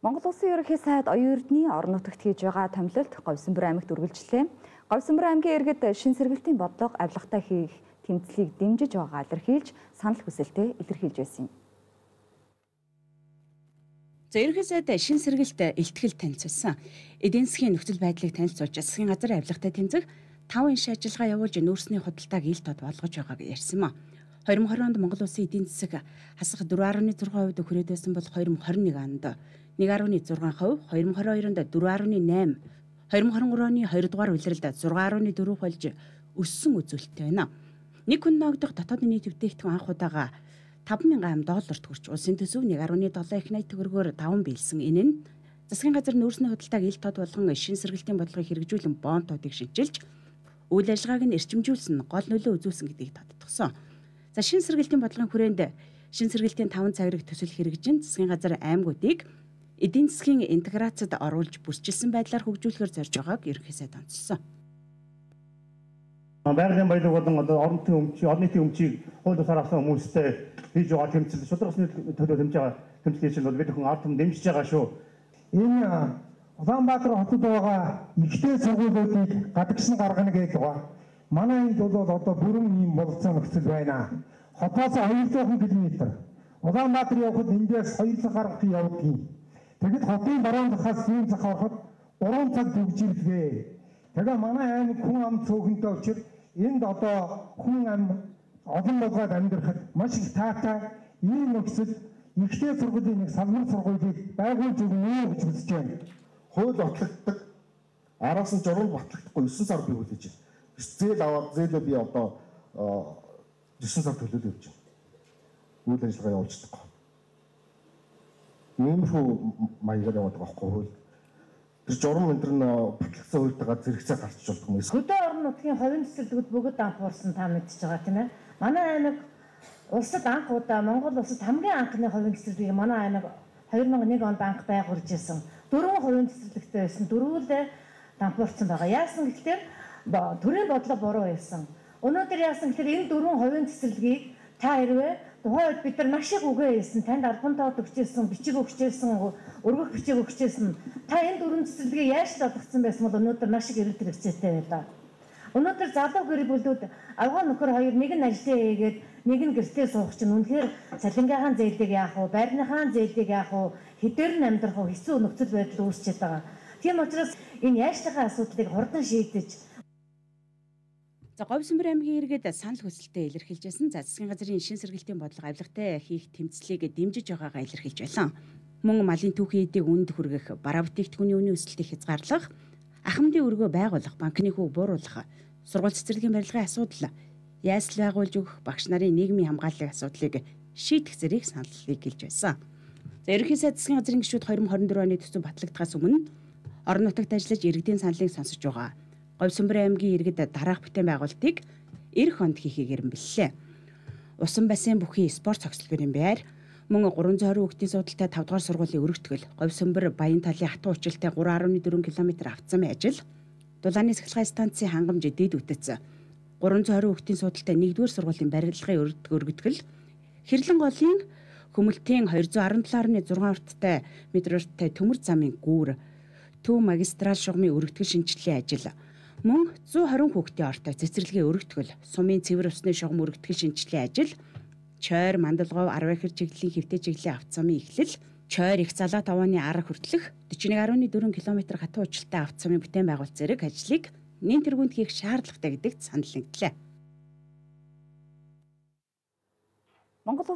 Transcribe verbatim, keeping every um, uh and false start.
Монгол Улсын ерөнхий сайд оюун эрдний орон нутагт хийж байгаа томилолт Говьсонбор аймагт үргэлжлээ. Говьсонбор аймгийн иргэд шин сэргэлтийн бодлого авилгатай хийх тэмцлийг дэмжиж байгаа илэрхийлж санал хүсэлтэд илэрхийлж байсан юм. За ерөнхий сайд шин сэргэлт илтгэл танилцуулсан. Эдийн засгийн нөхцөл байдлыг танилцуулж засгийн газар авилгатай тэмцэх таван иш ажиллагаа явуулж нүүрсний худалдааг ил тод болгож байгааг ярьсан юм. хоёр мың хорин онд Монгол Улсын эдийн засаг хасах дөрвөн гаруй зургаан хувьд хүрээд байсан бол хоёр мың хорин нэг онд нэг гаруй зургаан хувь, хоёр мың хорин хоёрт дөрвөн гаруй найман, хоёр мың хорин гурав оны хоёр дугаар улиралд зургаан гаруй дөрвөн болж өссөн үзүүлэлттэй байна. Нэг хүн ногдох дотоодын нийт бүтээгдэхүүн анх удаага таван мянган долларт хүрч улсын төсөв нэг гаруй долоо их найт төгрөгөөр даван биелсэн. Энэ нь засгийн газар нүүрсний худалдааг ил тод болгон шин сэргэлтийн бодлогыг хэрэгжүүлэн бонтуудыг шинжилж үйл ажиллагааг нь эрчимжүүлсэн гол нөлөө үзүүлсэн гэдгийг тодтогсон. За шин сэргэлтийн бодлогын хүрээнд шин сэргэлтийн таван цагрыг төсөл хэрэгжин засгийн газар аймагуудыг эдийн засгийн интеграцид оруулж бүрчилсэн байдлаар хөгжүүлэхээр зорж байгааг ерөнхий сайд онцлсон. Байгалийн баялаг болон одоо орон нутгийн өмчийг, орон нийтийн өмчийг хууль бусаар авсан хүмүүстэй хийж байгаа тэмцэл, шударгасны төлөө дэмжиж байгаа тэмцлийн чинь бол бид хүн ард түмэн дэмжиж байгаа шүү. Энэ Улаанбаатар хотод байгаа ихтэй сургуулиудыг гадагшин гаргана гэж байгаа. Манай энд бол одоо бүрэн ийм болцоо нөхцөл байна. Хотоос хоёрдугаар километр. Улаанбаатар явхад эндээс хоёр цаг гаргах явдгийг. Тэгэд хотын баруун захаас зүүн зах ороход гурван цаг төгжирдгээ. Тэгээ манай аймаг хүн ам цөөхөнтэй учраас энд одоо хүн ам олон болгоод амьдрахад маш их таатай ийм нөхцөл ихтэй сургуулийн нэг салбар сургуулийг байгуулж өгнө гэж хүсэж байна. Хууль батлагддаг араас нь журам батлагдахгүй есөн сар бий хүлээж байна. Зээл аваад зээлээ би одоо есөн сар төлөөлөө явж байна. Үйл ажиллагаа явуулж байгаа. Нэмэрхүү маягаар яваад байгаа байхгүй хууль. Тэр журам энэ нь батлагдсан хуультайгаа зэрэгцээ гарч болдог юм. Хөдөө орон нутгийн хувийн цэцэрлэгүүд бүгд анхуурсан та мэдчихэж байгаа тийм ээ. Манай аймаг улсад анх удаа Монгол улсад хамгийн анхны хувийн цэцэрлэгийг манай аймаг хоёр мың нэг онд анх байгуулж ирсэн. Дөрвөн хувийн цэцэрлэгтэй байсан. Дөрвөлээ дампуурсан байгаа. Яасан гэхээр төрийн бодлого буруу байсан. Өнөөдөр яасан гэхээр энэ дөрвөн хувийн цэцэрлэгийг та хэрвээ тухайн үед бид нар маш их үгээ хэлсэн, танд албан тоод өгчээсэн, бичиг өгчээсэн, өргөх бичиг өгчээсэн. Та энэ дөрвөн цэцэрлэгийг яаж олгоцсон байсан бол өнөөдөр маш их эрэлт хэрэгцээтэй байлаа. Өнөөдөр залуу гэр бүлүүд авгаа нөхөр хоёр нэг нь ажлаа хийгээд нэг нь гэртээ суух чинь үнэхээр цалингаахан зээлийг яах вэ, байрныхаа зээлийг яах вэ, хэдээр нь амьдрах вэ, хэцүү нөхцөл байдал үүсчихэд байгаа. Тийм учраас энэ яашлахаа асуудлыг хурдан шийдэж За Говьсонбор аймгийн иргэд санал хүсэлтэд илэрхийлжсэн. За засгийн газрын шин сэргэлтийн бодлого авилгатай хийх тэмцлийг дэмжиж байгаагаа илэрхийлж байлаа. Мөн малын түүхийн эдийг үнэд хүргэх, бараа бүтээгдэхүүний үнийн өсөлтийг хязгаарлах, ахмадын өргөө байгуулах, банкны хүүг бууруулах, сургууль цэцэрлэгийн барилгын асуудал, ясль байгуулж өгөх, багш нарын нийгмийн хамгааллын асуудлыг шийдэх зэрэг саналыг гэлж байсан. За ерөнхий сайд засгийн газрын гишүүд хоёр мың хорин дөрвөн оны төсөв батлагдахаас өмнө орон нутагт ажиллаж иргэдийн саналыг сонсож байгаа. Говьсонбор аймгийн иргэд дараах бүтээн байгуулалтыг эх хонд хийхийг эренбэллээ. Усан бассейн бүхий спорт цогцлогын байр, мөн гурван зуун хорин хүүхдийн суудалтай тавд дугаар сургуулийн өргөтгөл, Говьсонбор Баян талын хатуу училтай гурван гаруй дөрвөн километр автозамын ажил, дулааны сахилгын станцын хангамж дээд үтэц, гурван зуун хорин хүүхдийн суудалтай нэгдүгээр сургуулийн барилгын өргөтгөл, Хэрлэн голын Хөмөлтийн хоёр зуун арван долоо гаруй зургаан урттай метртэй төмөр замын гүүр, Төв магистрал шугамын өргөтгөл шинжилгээ ажил, мөн зуун хорин хүүхдийн ортой цэцэрлэгийн өргөтгөл, сумын цэвэр усны шугам өргөтгөл шинжилгээ ажил, Чойр Мандалгов арван ихэр чиглэлийн хэвтэй чиглэлийн автозамын эхлэл, Чойр их залаат авааны арга хүртэлх дөрвөн гаруй дөрвөн километр хатуу училтай автозамын бүтээн байгуулалт зэрэг ажлыг нэн тэргуунд хийх шаардлагатай гэдэгт санал нэгдлээ. Монгол